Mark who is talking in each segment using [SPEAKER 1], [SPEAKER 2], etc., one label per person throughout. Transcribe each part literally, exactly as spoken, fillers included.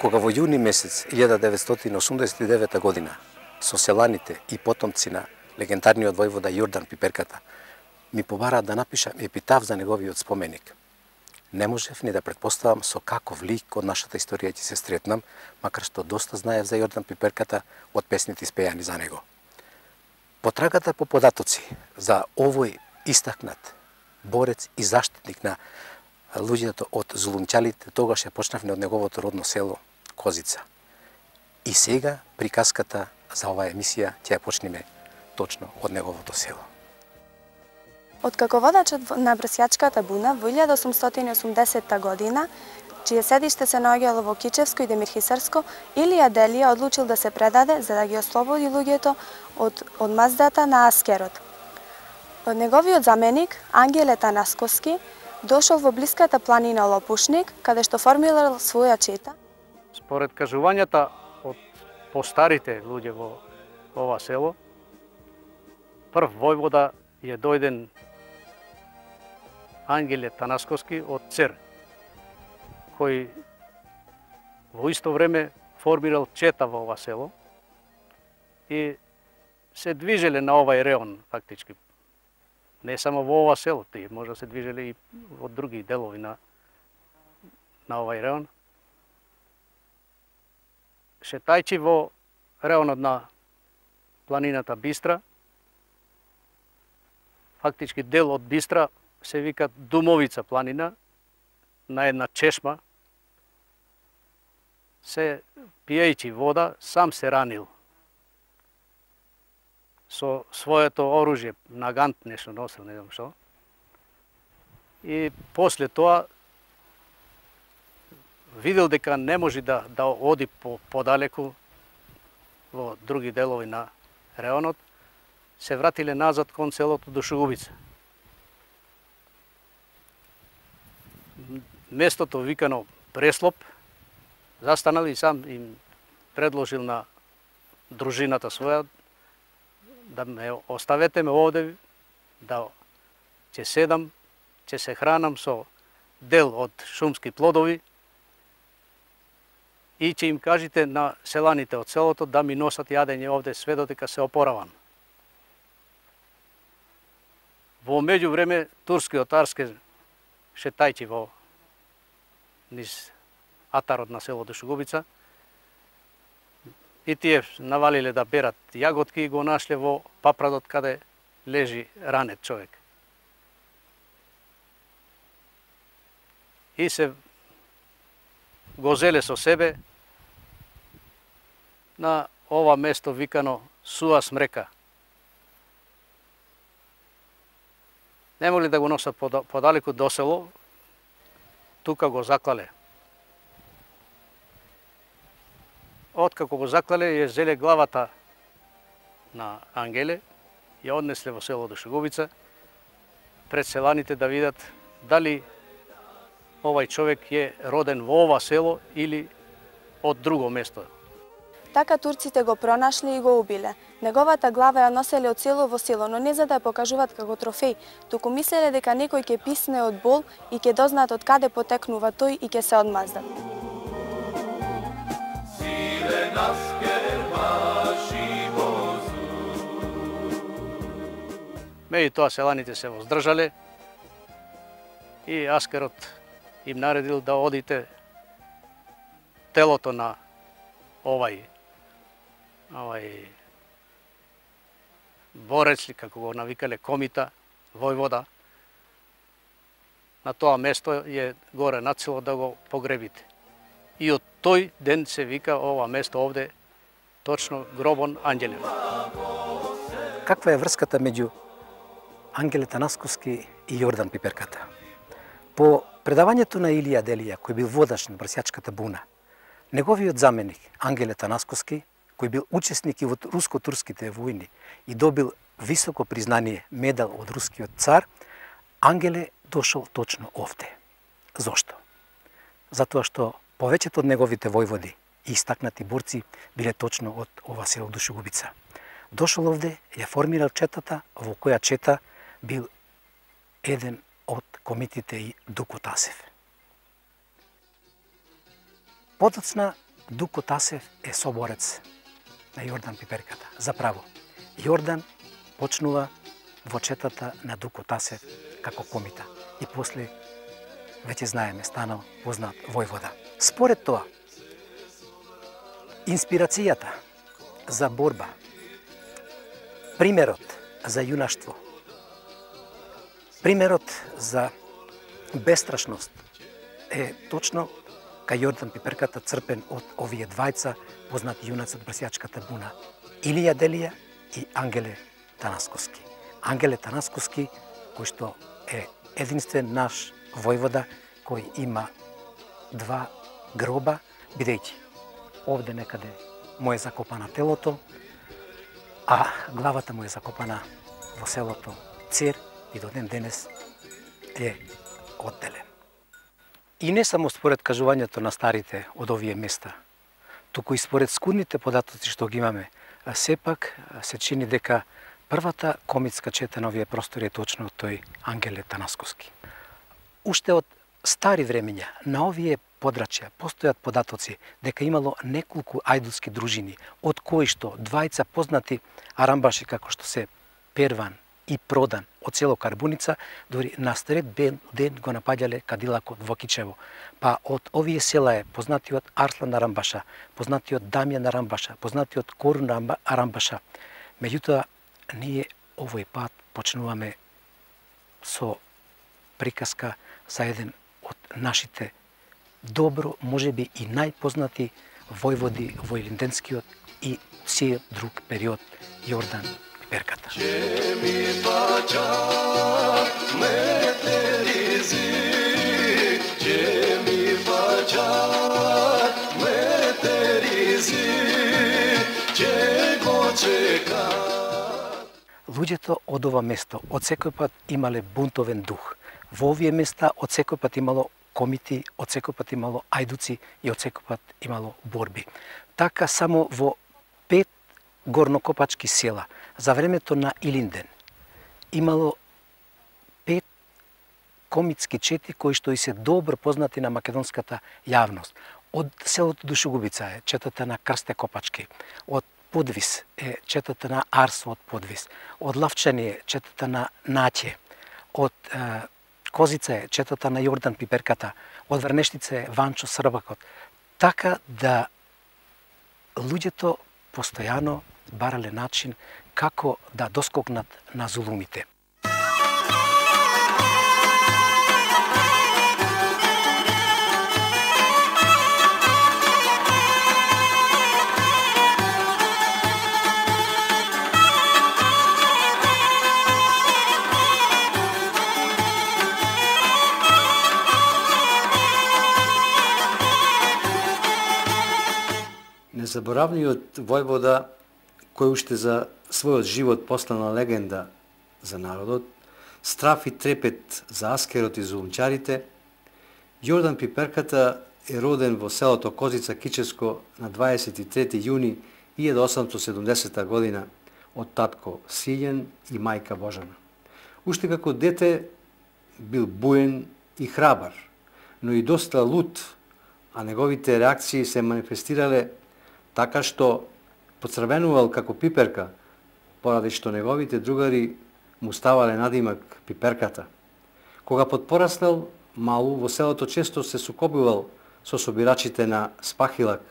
[SPEAKER 1] Кога во јуни месец илјада деветстотини осумдесет и девета година со селаните и потомци на легендарниот војвода Јордан Пиперката ми побараат да напишам епитаф за неговиот споменик, не можев ни да претпоставам со каков лик од нашата историја ќе се сретнам, макар што доста знаев за Јордан Пиперката од песните испејани за него. Потрагата по податоци за овој истакнат борец и заштитник на луѓето од зулумчалите тогаш ја почнавме од неговото родно село Козица. И сега приказката за оваа емисија ќе ја почнеме точно од неговото село.
[SPEAKER 2] Откако водачот на Брсјачката буна во илјада осумстотини и осумдесетта година, чие седиште се наоѓало во Кичевско и Демирхисарско, Илија Делија одлучил да се предаде за да ги ослободи луѓето од одмаздата на Аскерот. Од неговиот заменик, Ангеле Танасковски, дошол во блиската планина Лопушник, каде што формирал своја чета.
[SPEAKER 3] Според кажувањата од постарите луѓе во ова село, прв војвода е дојден Ангеле Танасковски од Цер, кој во исто време формирал чета во ова село и се движеле на овај реон фактички. Не само во ова село, тие може да се движеле и од други делови на на овај реон. Шетајќи во реонот на планината Бистра, фактички дел од Бистра се вика Думовица планина, на една чешма, се пиејќи вода, сам се ранил. Со своето оружје, нагант нешто носил, не знам што. И после тоа видел дека не може да, да оди по, подалеку во други делови на реонот, се вратиле назад кон селото Душегубица. Местото викано Преслоп, застанал и сам им предложил на дружината своја да ме оставете ме овде, да ќе седам, ќе се хранам со дел од шумски плодови и ќе им кажете на селаните од селото да ми носат јадење овде све додека се опоравам. Во меѓувреме турскиот арске шетајќи во низ атарот на село Душегубица и тие навалиле да берат јаготки и го нашле во папрадот каде лежи ранет човек. И се го зеле со себе на ова место викано Суа Смрека. Не могли да го носат подалеку до село, тука го заклале. Откако го заклале, ја зеле главата на Ангеле, ја однесле во село Душегубица, пред селаните да видат дали овај човек е роден во ова село или од друго место.
[SPEAKER 2] Така турците го пронашли и го убиле. Неговата глава ја носеле од село во село, но не за да ја покажуваат како трофеј, туку мислеле дека некој ќе писне од бол и ќе дознаат од каде потекнува тој и ќе се одмаздат.
[SPEAKER 3] Меѓутоа селаните се воздржале и Аскерот им наредил да одите телото на овај овај борец, како го навикале Комита, војвода, на тоа место е горе над село да го погребите. И од тој ден се вика ова место овде точно Гробон Анѓелев.
[SPEAKER 1] Каква е врската меѓу Ангеле Танасковски и Јордан Пиперката? По предавањето на Илија Делија, кој бил водач на Брсјачката буна, неговиот заменик Ангеле Танасковски, кој бил учесник и во руско-турските војни и добил високо признание медал од рускиот цар, Ангеле дошол точно овде. Зошто? Затоа што повеќето од неговите војводи и истакнати борци биле точно од ова село Душегубица. Дошол овде, ја формирал четата, во која чета бил еден од комитите и Дуко Тасев. Подоцна Дуко Тасев е соборец на Јордан Пиперката. Заправо, Јордан почнува во четата на Дуко Тасев како комита и после, веќе знаеме, станал познат војвода. Според тоа, инспирацијата за борба, примерот за јунаштво, примерот за бестрашност е точно кај Јордан Пиперката, црпен од овие двајца познати јунаци од Брсјачката буна, Илија Делија и Ангеле Танасковски. Ангеле Танасковски, кој што е единствен наш војвода кој има два гроба, бидејќи овде некаде му е закопана телото, а главата му е закопана во селото Цер и до ден денес е одделен. И не само според кажувањето на старите од овие места, туку и според скудните податоци што ги имаме, сепак се чини дека првата комитска чета на овие простори е точно тој Ангеле Танасковски. Уште од стари времења на овие подрачја постојат податоци дека имало неколку ајдуски дружини, од кои што двајца познати арамбаши како што се Перван и Продан од село Карбуница, дори на сред ден го напаѓале кадилакот во Кичево. Па од овие села е познатиот Арслан Арамбаша, познатиот Дамјан Арамбаша, познатиот Корун Арамбаша. Меѓутоа, ние овој пат почнуваме со приказка за еден од нашите добро, можеби и најпознати војводи во Илинденскиот и сиот друг период, Јордан Пиперката.
[SPEAKER 4] Че ми паќа метеризи, че ми паќа метеризи, че го чека.
[SPEAKER 1] Луѓето од ова место од секој пат имале бунтовен дух. Во овие места од секој пат имало комити, од секој пат имало ајдуци и од секој пат имало борби. Така само во пет горнокопачки села за времето на Илинден имало пет комитски чети кои што и се добро познати на македонската јавност. Од селото Душугубица е четата на Крсте Копачки, од Подвис е четата на Арсо од Подвис, од Лавчани е четата на Наќе, од е, Козица е четата на Јордан Пиперката, од Врнештица е Ванчо Србакот. Така да луѓето постојано барале начин како да доскокнат на зулумите.
[SPEAKER 5] Незаборавниот војвода, кој уште за својот живот постана легенда за народот, страф и трепет за аскерот и зулумчарите, Јордан Пиперката е роден во селото Козица Кичевско на дваесет и трети јуни илјада осамстотини и седумдесета година од татко Силјан и мајка Божана. Уште како дете бил буен и храбар, но и доста лут, а неговите реакции се манифестирале така што поцрвенувал како Пиперка, поради што неговите другари му ставале надимак Пиперката. Кога подпораснал, малу во селото често се сукобувал со собирачите на Спахилак,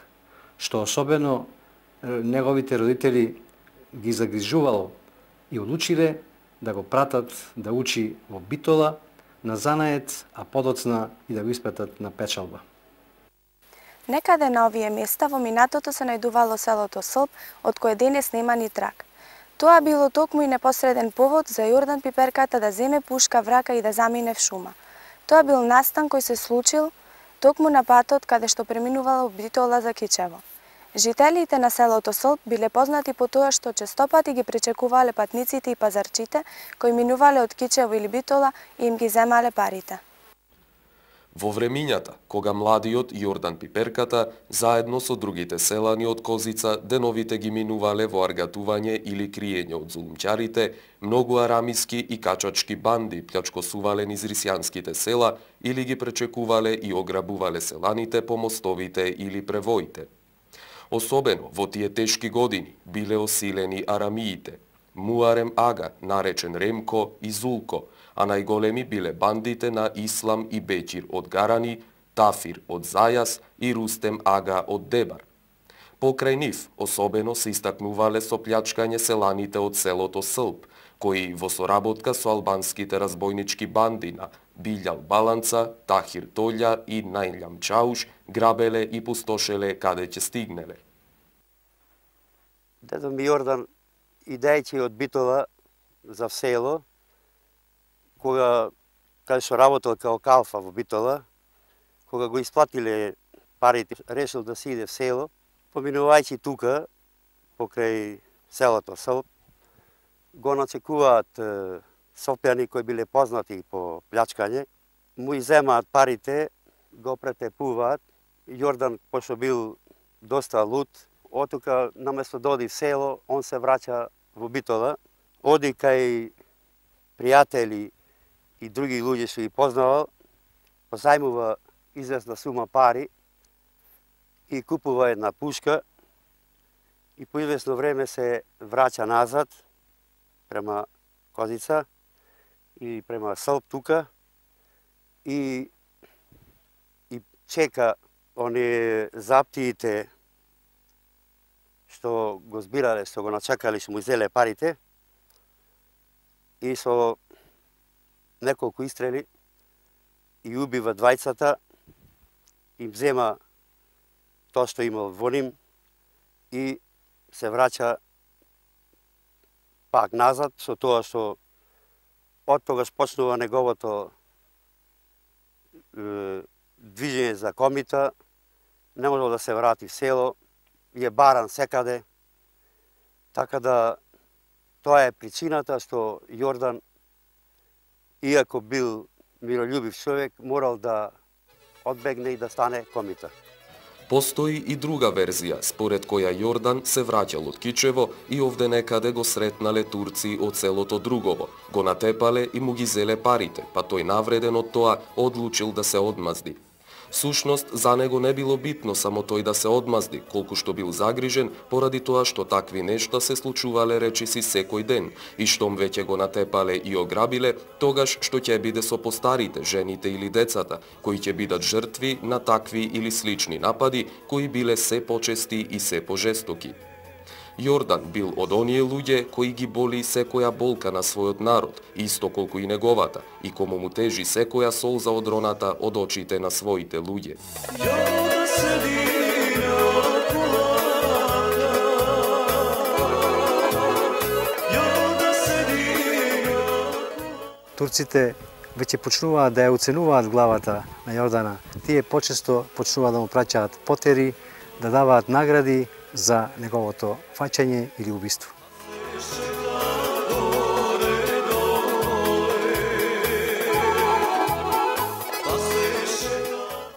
[SPEAKER 5] што особено неговите родители ги загрижувало и одлучиле да го пратат да учи во Битола, на занает, а подоцна и да го испратат на печалба.
[SPEAKER 2] Некаде на овие места во минатото се најдувало селото Сълб, од кое денес нема ни траг. Тоа било токму и непосреден повод за Јордан Пиперката да земе пушка врака и да замине в шума. Тоа бил настан кој се случил токму на патот каде што преминувало Битола за Кичево. Жителите на селото Сълб биле познати по тоа што честопати ги пречекувале патниците и пазарчите кои минувале од Кичево или Битола и им ги земале парите.
[SPEAKER 6] Во времињата, кога младиот Јордан Пиперката, заедно со другите селани од Козица, деновите ги минувале во аргатување или криење од зулумчарите, многу арамиски и качачки банди плјачкосувале низ рисјанските села или ги пречекувале и ограбувале селаните по мостовите или превоите. Особено во тие тешки години биле осилени арамиите, Муарем Ага, наречен Ремко и Зулко, а најголеми биле бандите на Ислам и Беќир од Гарани, Тафир од Зајас и Рустем Ага од Дебар. Покрај нив, особено се истакнувале со плјачкање селаните од селото Сълп, кои во соработка со албанските разбойнички банди на Билјал Баланца, Тахир Толја и Најлјам Чауш грабеле и пустошеле каде ќе стигнеле.
[SPEAKER 7] Дедо ми Јордан, идејќи од Битола за село, кога каде што работел као калфа во Битола, кога го исплатиле парите, решил да си иде в село, поминувајќи тука, покрај селото Сълп, го начекуваат Сопјани кои биле познати по плјачкање, му иземаат парите, го претепуваат. Јордан, пошто бил доста луд, отука наместо да оди в село, он се враќа во Битола, оди кај пријатели и други луѓе што ги познавал, позајмува известна сума пари и купува една пушка и по известно време се враќа назад према Козица и према Сълп тука и и чека оние заптиите што го збирале, што го начекали, што му изеле парите и со неколку истрели и убива двајцата, им зема тоа што имал во ним и се враќа пак назад со тоа што од тогаш почнува неговото е, движење за комита, не можел да се врати в село, е баран секаде, така да тоа е причината што Јордан, иако бил мирољубив човек, морал да одбегне и да стане комита.
[SPEAKER 6] Постои и друга верзија, според која Јордан се враќал од Кичево и овде некаде го сретнале турци од селото Другово, го натепале и му ги зеле парите, па тој навреден од тоа одлучил да се одмазди. Всушност, за него не било битно само тој да се одмазди, колку што бил загрижен поради тоа што такви нешта се случувале речиси секој ден и штом веќе го натепале и ограбиле, тогаш што ќе биде со постарите, жените или децата, кои ќе бидат жртви на такви или слични напади, кои биле се почести и се пожестоки. Јордан бил од оние луѓе кои ги боли секоја болка на својот народ, исто колку и неговата, и кому му тежи секоја солза од роната од очите на своите луѓе.
[SPEAKER 5] Турците веќе почнуваат да ја оценуваат главата на Јордана. Тие почесто почнуваат да му праќаат потери, да даваат награди за неговото фаќање или убиство.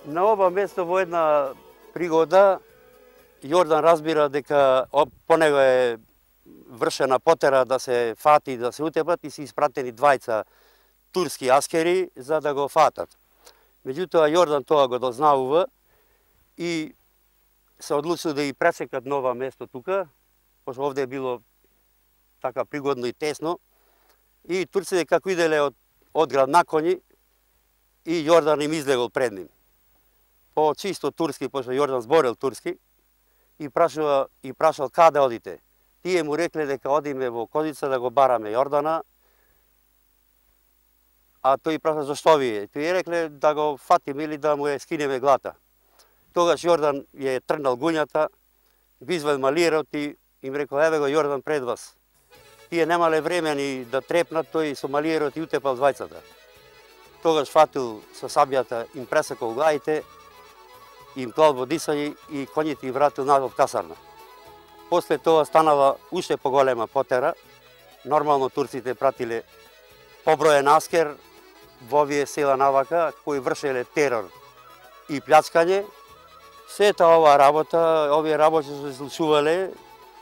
[SPEAKER 7] На ова место во една пригода Јордан разбира дека по него е вршена потера да се фати, да се утепат и се испратени двајца турски аскери за да го фатат. Меѓутоа Јордан тоа го дознавува и се одлучил да ги пресекат нова место тука, пошто овде е било така пригодно и тесно. И турците како иделе од, од град на коњи и Јордан им излегол пред ним. По чисто турски, пошто Јордан зборел турски, и прашува и прашал каде одите. Тие му рекле дека одиме во Козица да го бараме Јордана, а тој праша зашто вие? Тој рекле да го фатиме или да му ја скинеме глата. Тогаш Јордан ја трнал гуњата, го извадил малиерот и им рекол, еве го Јордан пред вас. Тие немале време ни да трепнат, тој со малиерот и утепал двајцата. Тогаш фатил со сабјата, им пресекол главите, им клал во дисање и коњите им вратил назад в касарна. После тоа станала уште поголема потера. Нормално турците пратиле поброен аскер во овие села навака, кои вршеле терор и плјачкање. Сета ова работа, овие работи се случувале,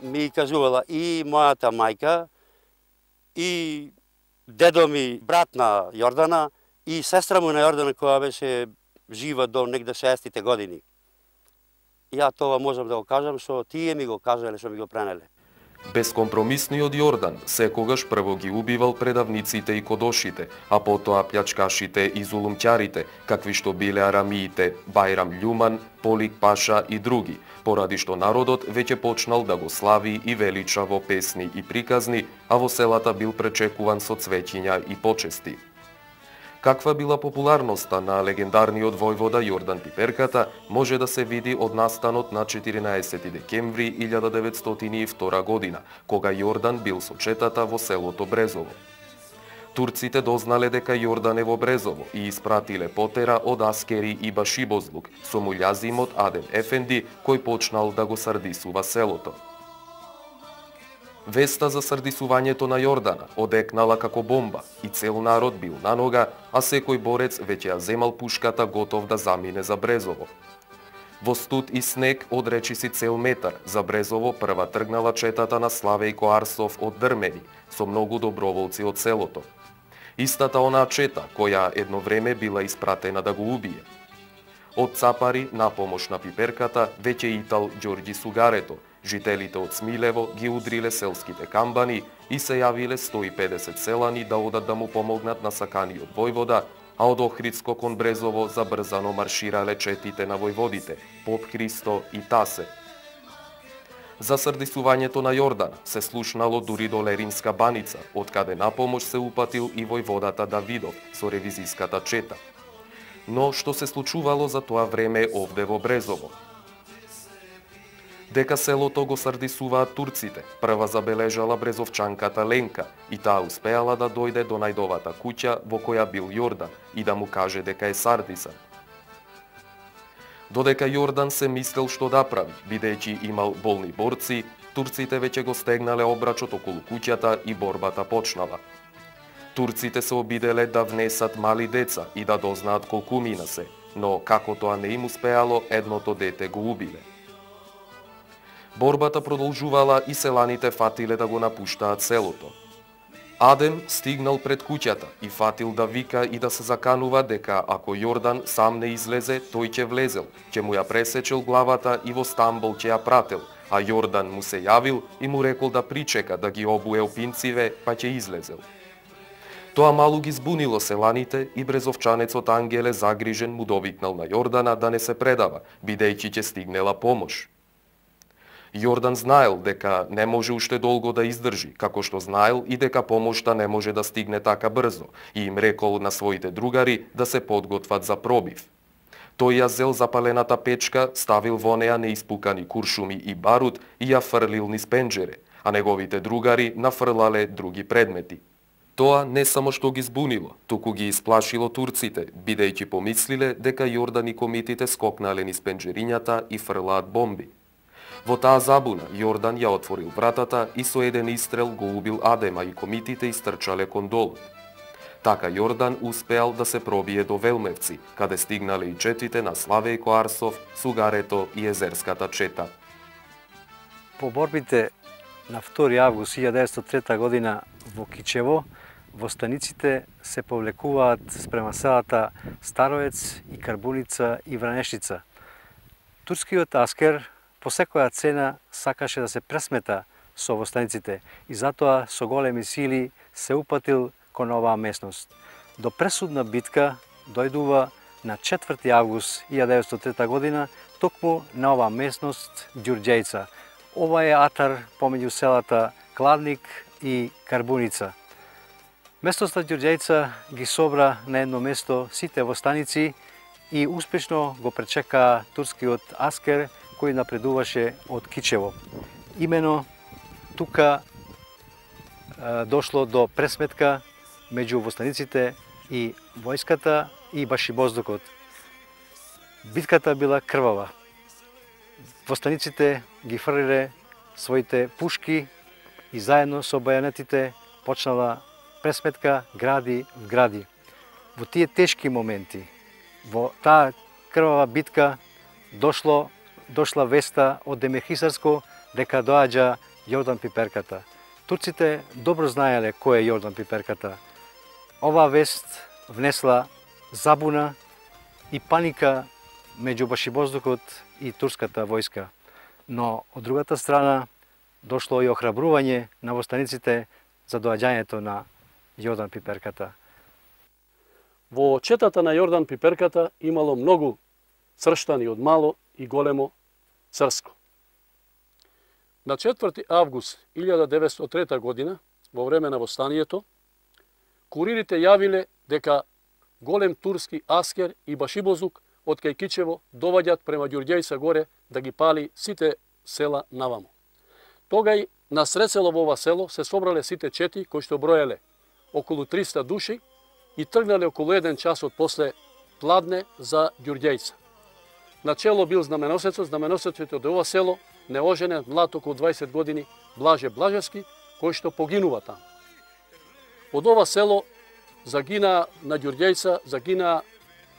[SPEAKER 7] ми кажувала и мојата мајка, и дедо ми, брат на Јордана, и сестра му на Јордана, која беше жива до негде шеесеттите години. ја тоа можам да го кажам што тие ми го кажале, што ми го пренеле.
[SPEAKER 6] Безкомпромисниот Јордан секогаш прво ги убивал предавниците и кодошите, а потоа плјачкашите и зулумќарите, какви што биле арамиите Бајрам Љуман, Полик Паша и други, поради што народот веќе почнал да го слави и велича во песни и приказни, а во селата бил пречекуван со цвеќиња и почести. Каква била популарноста на легендарниот војвода Јордан Пиперката може да се види од настанот на четиринаесети декември илјада деветстотини и втора година, кога Јордан бил со четата во селото Брезово. Турците дознале дека Јордан е во Брезово и испратиле потера од аскери и башибозлук со муљазимот Адем Ефенди, кој почнал да го сардисува селото. Веста за сардисувањето на Јордана одекнала како бомба и цел народ бил на нога, а секој борец веќе ја земал пушката готов да замине за Брезово. Во студ и снег од речиси цел метар за Брезово прва тргнала четата на Славејко Арсов од Дрмени со многу доброволци од селото. Истата онаа чета која едно време била испратена да го убие. Од Цапари на помош на Пиперката веќе итал Ѓорѓи Сугарето. Жителите од Смилево ги удриле селските камбани и се јавиле сто и педесет селани да одат да му помогнат на саканиот војвода, а од Охридско кон Брезово забрзано марширале четите на војводите Поп Христо и Тасе. За сардисувањето на Јордана се слушнало дури до Леринска баница, од каде на помош се упатил и војводата Давидов со ревизиската чета. Но што се случувало за тоа време овде во Брезово? Дека селото го сардисуваат турците, прва забележала брезовчанката Ленка и таа успеала да дојде до најдовата куќа во која бил Јордан и да му каже дека е сардисан. Додека Јордан се мислел што да прави, бидејќи имал болни борци, турците веќе го стегнале обрачот околу куќата и борбата почнала. Турците се обиделе да внесат мали деца и да дознаат колку мина се, но како тоа не им успеало, едното дете го убиле. Борбата продолжувала и селаните фатиле да го напуштаат селото. Адем стигнал пред куќата и фатил да вика и да се заканува дека ако Јордан сам не излезе, тој ќе влезел, ќе му ја пресечел главата и во Стамбол ќе ја прател, а Јордан му се јавил и му рекол да причека да ги обуе опинциве, па ќе излезел. Тоа малу ги збунило селаните и брезовчанецот Ангеле загрижен му довикнал на Јордана да не се предава, бидејќи ќе стигнела помош. Јордан знаел дека не може уште долго да издржи, како што знаел и дека помошта не може да стигне така брзо и им рекол на своите другари да се подготват за пробив. Тој ја зел запалената печка, ставил во неа неиспукани куршуми и барут и ја фрлил низ пенџере, а неговите другари нафрлале други предмети. Тоа не само што ги збунило, туку ги исплашило турците, бидејќи помислиле дека Јордан и комитите скокнале низ пенџерињата и фрлаат бомби. Во таа забуна, Јордан ја отворил вратата и со еден истрел го убил Адема и комитите истрчале кон долот. Така Јордан успеал да се пробие до Велмевци, каде стигнале и четите на Славејко Арсов, Сугарето и Езерската чета.
[SPEAKER 8] По борбите на втори август илјада деветстотини и трета година во Кичево, во станиците се повлекуваат спрема селата Староец и Карбуница и Вранешица. Турскиот аскер по секоја цена сакаше да се пресмета со востаниците и затоа со големи сили се упатил кон оваа местност. До пресудна битка дојдува на четврти август илјада деветстотини и трета година токму на оваа местност Ѓурѓејца. Ова е атар помеѓу селата Кладник и Карбуница. Местноста Ѓурѓејца ги собра на едно место сите востаници и успешно го пречека турскиот аскер кој напредуваше од Кичево. Имено тука е, дошло до пресметка меѓу востаниците и војската и башибоздукот. Битката била крвава. Востаниците ги фрлиле своите пушки и заедно со бајонетите почнала пресметка гради в гради. Во тие тешки моменти, во таа крвава битка дошло дошла веста од Демирхисарско дека доаѓа Јордан Пиперката. Турците добро знаеле кој е Јордан Пиперката. Оваа вест внесла забуна и паника меѓу Башибоздукот и турската војска. Но од другата страна дошло и охрабрување на востаниците за доаѓањето на Јордан Пиперката.
[SPEAKER 3] Во четата на Јордан Пиперката имало многу црштани од мало и големо црско. На четврти август илјада деветстотини и трета година, во време на востанието, куририте јавиле дека голем турски аскер и Башибозук од кај Кичево доваѓат према Ѓурѓејца горе да ги пали сите села наваму. Тогај на сред село во ова село се собрале сите чети кои што броеле околу триста души и тргнале околу еден час од после Пладне за Ѓурѓејца. На чело бил знаменосецот, знаменосецот од ова село, неоженет млад околу дваесет години Блаже Блажевски, кој што погинува таму. Од ова село загина на Ѓурѓејца, загина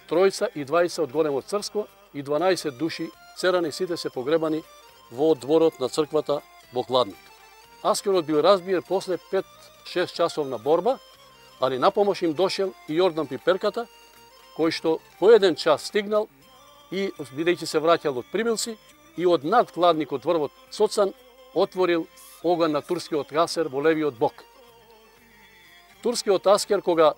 [SPEAKER 3] тројца и дваесет од големо црско и дванаесет души церани, сите се погребани во дворот на црквата во Кладник. Аскерот бил разбиен после пет-шест часовна борба, али напомош им дошел и Јордан Пиперката, кој што по еден час стигнал и, бидејќи се враќал од Прибилци, и од над Кладникот врвот Соцан отворил оган на турскиот аскер во левиот бок. Турскиот аскер, кога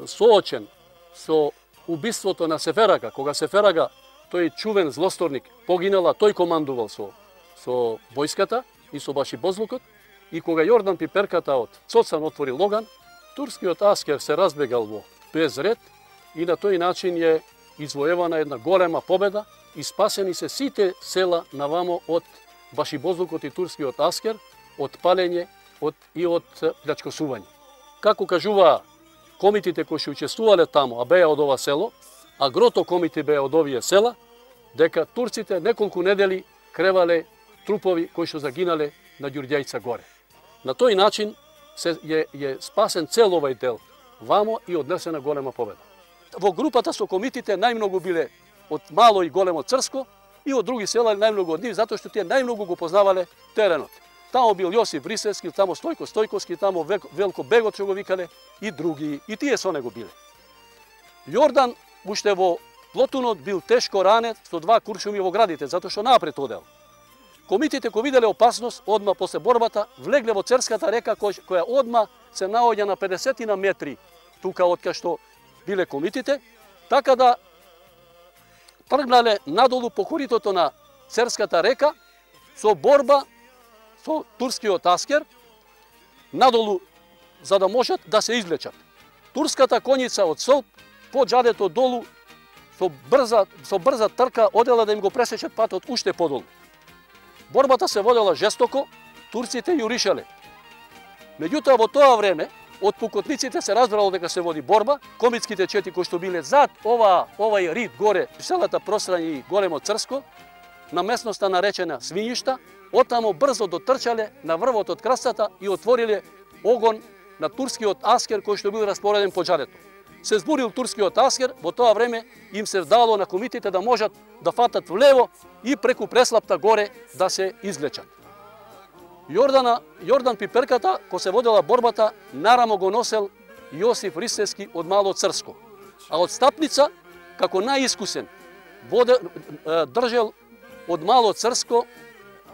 [SPEAKER 3] соочен со убиството на Сеферага, кога Сеферага, тој чувен злосторник, погинала, тој командувал со, со војската и со Башибозлукот, и кога Јордан Пиперката од Цоцан отворил оган, турскиот аскер се разбегал во безред и на тој начин е извоевана една голема победа и спасени се сите села навамо од Башибозлукот и турскиот аскер, од палење од, и од плячкосување. Како кажуваа комитите кои што учествувале таму, а беа од ова село, а грото комити беа од овие села, дека турците неколку недели кревале трупови кои што загинале на Ѓурѓејца горе. На тој начин се е, е спасен цел овај дел вамо и однесена голема победа. Во групата со комитите најмногу биле од мало и големо црско и од други села најмногу од нив, затоа што тие најмногу го познавале теренот. Тамо бил Јосиф Рисевски, тамо Стојко Стојковски, тамо Велко Бегот што го викале и други, и тие со него биле. Јордан уште во Плотунот бил тешко ранет со два куршуми во градите, затоа што напред одел. Комитите кои виделе опасност, одма после борбата, влегле во Церската река, која одма се наоѓа на педесетина метри тука од кај што биле комитите, така да тргнале надолу по коритото на Церската река со борба со турскиот аскер, надолу за да можат да се излечат. Турската коњица од Сълп по џадето долу со брза, со брза трка одела да им го пресечат патот уште подолу. Борбата се водела жестоко, турците јуришале. Меѓутоа во тоа време од пукотниците се разбрало дека се води борба, комитските чети кои што биле зад ова овај рид горе, селата Прострање и Големо Црско, на местноста наречена Свињишта, оттамо брзо дотрчале на врвот од крстата и отвориле огон на турскиот аскер кој што бил распореден по џадето. Се збурил турскиот аскер, во тоа време им се дало на комитите да можат да фатат влево и преку преслапта горе да се излечат. Јордана, Јордан Пиперката, ко се водела борбата, нарамо го носел Јосиф Рисевски од Мало Црско, а од Стапница, како најискусен, воде, држел од Мало Црско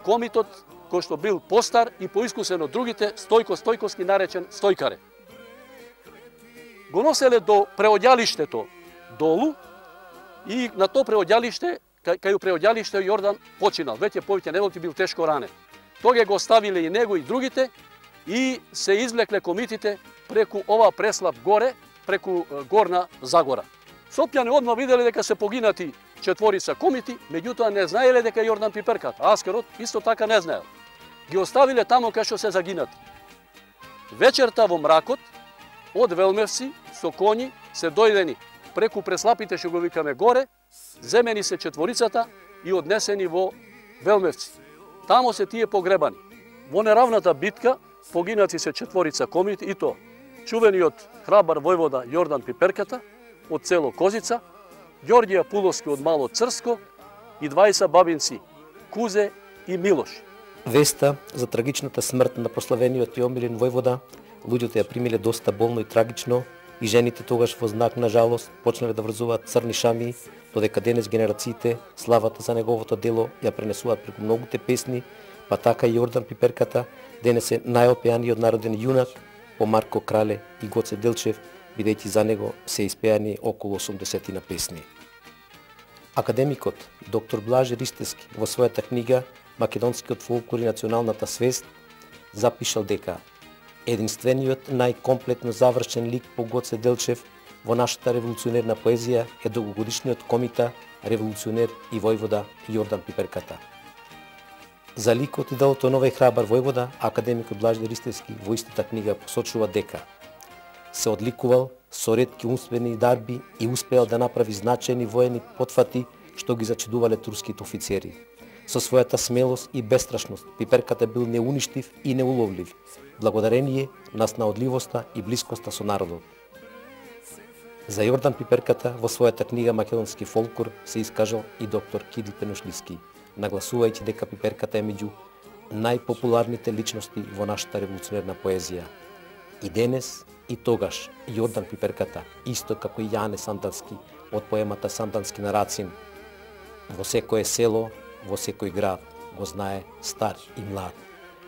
[SPEAKER 3] комитот кој што бил постар и поискусен од другите, Стојко Стојковски наречен Стојкаре. Го носеле до преодјалиштето долу и на то преодјалиште, кај преодјалиште Јордан починал, веќе повеќе недолги бил тешко ранен. Тога го оставиле и него и другите и се извлекле комитите преку ова преслап горе, преку Горна Загора. Сопјани одма виделе дека се погинати четворица комити, меѓутоа не знаеле дека Јордан Пиперкат, аскерот исто така не знаел. Ги оставиле тамо кај што се загинати. Вечерта во мракот од Велмевци со коњи се дојдени преку преслапите што го викаме горе, земени се четворицата и однесени во Велмевци. Тамо се тие погребани. Во неравната битка погинати се четворица комити и то чувениот храбар војвода Јордан Пиперката од село Козица, Ѓорѓија Пуловски од Мало Црско и дваесет бабинци Кузе и Милош.
[SPEAKER 1] Веста за трагичната смрт на прославениот и омилен војвода, луѓето ја примиле доста болно и трагично, и жените тогаш во знак на жалост почнале да врзуваат црни шами, додека денес генерациите славата за неговото дело ја пренесуваат преку многуте песни, па така и Јордан Пиперката денес е најопеаниот народен јунак по Марко Крале и Гоце Делчев, бидејќи за него се испеани околу осумдесет на песни. Академикот доктор Блаже Ристевски во својата книга Македонскиот фолклор и националната свест запишал дека единствениот најкомплетно завршен лик по Гоце Делчев во нашата револуционерна поезија е долгогодишниот комита, револуционер и војвода Јордан Пиперката. За ликот и делото на овој храбар војвода, академикот Блаже Ристевски во истата книга посочува дека се одликувал со ретки умствени дарби и успеал да направи значајни воени потфати што ги зачудувале турските офицери. Со својата смелост и бестрашност Пиперката бил неуништив и неуловлив, благодарение на снаодливоста и блискоста со народот. За Јордан Пиперката во својата книга Македонски фолклор се искажал и доктор Кирил Пенушлиски, нагласувајќи дека Пиперката е меѓу најпопуларните личности во нашата револуционерна поезија. И денес, и тогаш, Јордан Пиперката, исто како и Јане Сандански од поемата Сандански на Рацин, во секое село, во секој град, го знае стар и млад.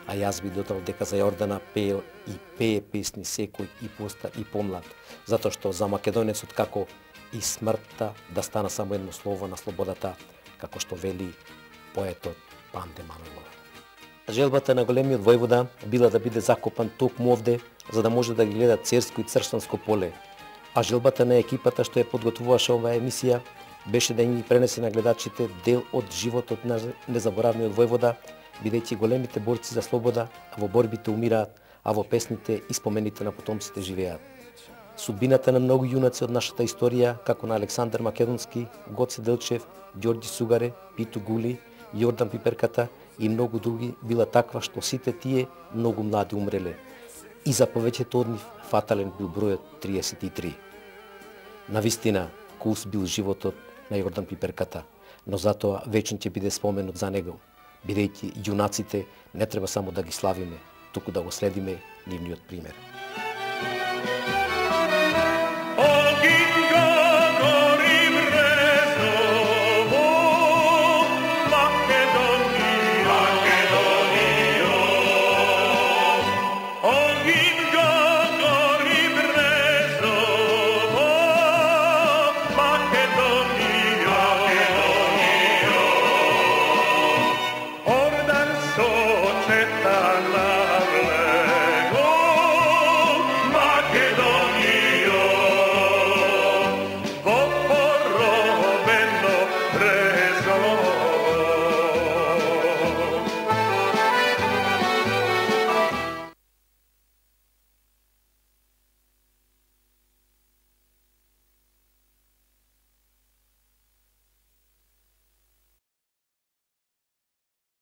[SPEAKER 1] А јас би додал дека за Јордана пеел и пее песни секој и постар и помлад, затоа што за македонецот како и смртта да стана само едно слово на слободата, како што вели поетот Панде Манолов. Желбата на големиот војвода била да биде закопан токму овде, за да може да ги гледа Церско и Црштанско поле, а желбата на екипата што ја подготвуваше оваа емисија беше да им ги пренесе на гледачите дел од животот на незаборавниот војвода, бидејќи големите борци за слобода во борбите умираат, а во песните и спомените на потомците живеат. Судбината на многу јунаци од нашата историја, како на Александар Македонски, Гоце Делчев, Ѓорѓи Сугаре, Пито Гули, Јордан Пиперката и многу други, била таква што сите тие многу млади умреле. И за повеќето од нив фатален бил бројот триесет и три. Навистина, кулс бил животот на Јордан Пиперката, но затоа вечно ќе биде споменот за него, бидејќи јунаците не треба само да ги славиме, туку да го следиме нивниот пример.
[SPEAKER 9] Oh,